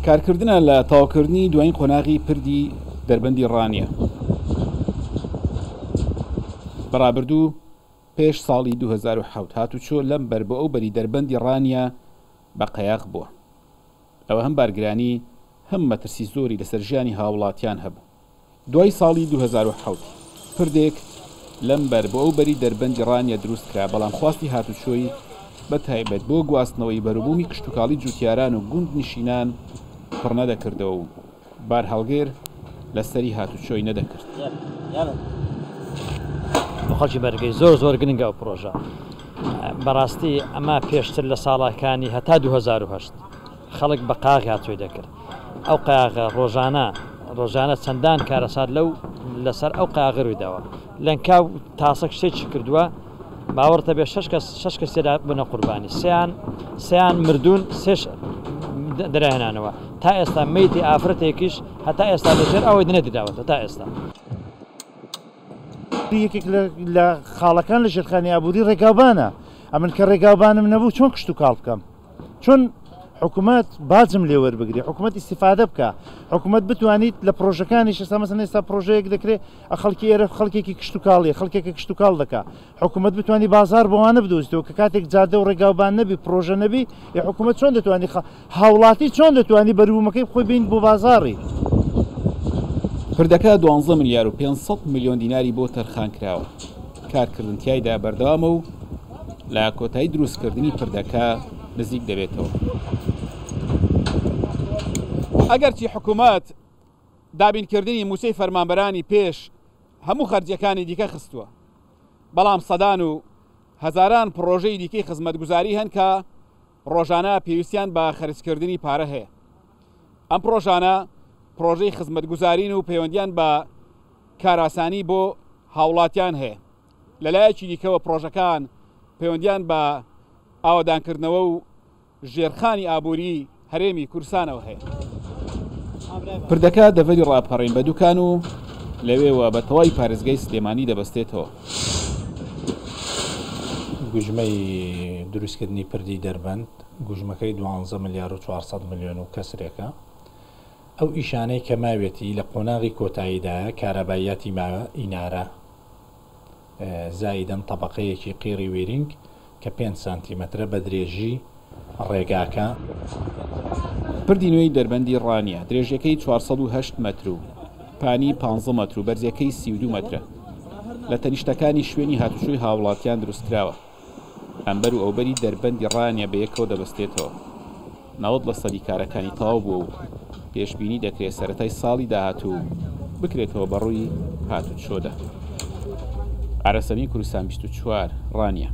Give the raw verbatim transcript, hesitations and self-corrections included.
کارکردنە لە تەواوکردنی دوایین قۆناغی پردی دەربەندی ڕانیە. بەڕابردوو پێش ساڵی دوو هەزار و حەوت هاتوچۆ لەم بەر بۆ ئەو بەری دەربەندی ڕانیە بە قەیاغ بووە. ئەوە هەم بارگرانی هەم مەترسی زۆری لەسەر ژیانی هاوڵاتیان هەبوو. دوای ساڵی دوو هەزار و حەوت پردێک لەم بەر بۆ ئەو بەری دەربەندی ڕانیە دروست کرا، بەڵام خواستی هاتوچۆی بە تایبەت بۆ گواستنەوەی بەروبوومی کشتتوکاڵی جوتیاران و گوند نشینان پڕ نەدەکردەوە و بارهەڵگر لەسەری هاتوچۆی نەدەکرد. بۆ خەڵکی بەرگەی زۆر زۆر گرنگە ئەو پرۆژە. بەڕاستی ئەمە پێشتر لە ساڵەکانی هەتا دوو هەزار و هەشت خەڵک بە قاغ هاتووی دەکرد. ئەو قاغە ڕۆژانە ڕۆژانە چەندان کارەسات لەو لەسەر ئەو قاغە ڕوویداوە. لەنکاو تاسەک شتێکی کردووە، باوەڕتە بێ شەش کەس شەش کەس تێدا بوونە قوربانی، سیان سیان مردوون، سێش دەراهێنانەوە. تا ئێستا مەیتی ئافرەتێکیش هەتا ئێستا لەژێر ئەوەی نەدراوەتە تا ئێستا. یەکێک لە خاڵەکان لە ژێرخانی ئابووری ڕێگاوبانە. ئەمن کە ڕێگاوبانم نەبوو چۆن کشت و کاڵ بکەم؟ چۆن حکوومەت باجم لێوەربگری، حکوومەت ئیسیفادە بکە، حکوومەت بتوانیت لە پرۆژەکانیش ئێستا مەسەن ئێستا پرۆژەیەک دەکرێت خەڵکی ئێرە خەڵکێکی کشتتوکاڵیە، خەڵکێکە کشتتوکاڵ دەکا، حکوومەت بتوانانی بازار بۆوانە بدۆزیتەوە کە کاتێک جادە و ڕێگاوبان نەبی، پرۆژە نەبی، ئێ حکوومەت چۆن دەتوانی هاوڵاتی چۆن دەتوانی بەروبوومەکەی خۆی بین بۆ بازاڕی؟ پردەکە دوانزە ملیار و پێنج سەد ملیۆن دیناری بۆ تەرخان کراوە. کارکردن تیایدا بەردەوامە و لە کۆتایی دروستکردنی پردەکە نزیک دەبێتەوە. ئەگەرچی حکوومەت دابینکردنی موچەی فەرمانبەرانی پێش هەموو خەرجیەکانی دیکە خستووە، بەڵام سەدان و هەزاران پرۆژەی دیکەی خزمەتگوزاری هەن کە ڕۆژانە پێویستیان بە خەرجکردنی پارە هەیە. ئەم پرۆژانە پرۆژەی خزمەتگوزارین و پەیوەندیان بە کاراسانی بۆ هاوڵاتیان هەیە. لەلایەکی دیکەوە پرۆژەکان پەیوەندیان بە ئاوەدانکردنەوە و ژێرخانی ئابووری هەرێمی کوردستانەوە هەیە. پردەکە دەڤەری ڕاپەڕین بە دوکان و لەوێوە بە تەواوی پارێزگای سلێمانی دەبەستێتەوە. گوژمەی دروستکردنی پردی دەربەند گوژمەکەی دوانزە ملیار و چوارسەد ملیۆن و کەسرێکە. ئەو ئیشانەی کە ماوێتی لە قۆناغی کۆتاییدایە کارەباییاتی ماوە ئینارە زایدەن طبقەیەکی قیڕی وێرینگ کە پێنج سانتیمەترە بە درێژی ڕێگاکە. پردی نوێی دەربەندی ڕانیە درێژیەکەی چوارسەد و هەشت مەتر و پانی پانزە مەتر و بەرزیەکەی سی و دوو مەترە. لە تەنیشتەکانی شوێنی هاتوچۆی هاوڵاتیان دروستکراوە. ئەمبەر و ئەوبەری دەربەندی ڕانیە بەیەکەوە دەبەستێتەوە. نەوەد لە سەدی کارەکانی تەواو بووە و پێشبینی دەکرێت سەرەتای ساڵی داهاتوو بکرێتەوە بەڕووی هاتوچۆدا. ئارەسەمی کوردستان بیست و چوار ڕانیە.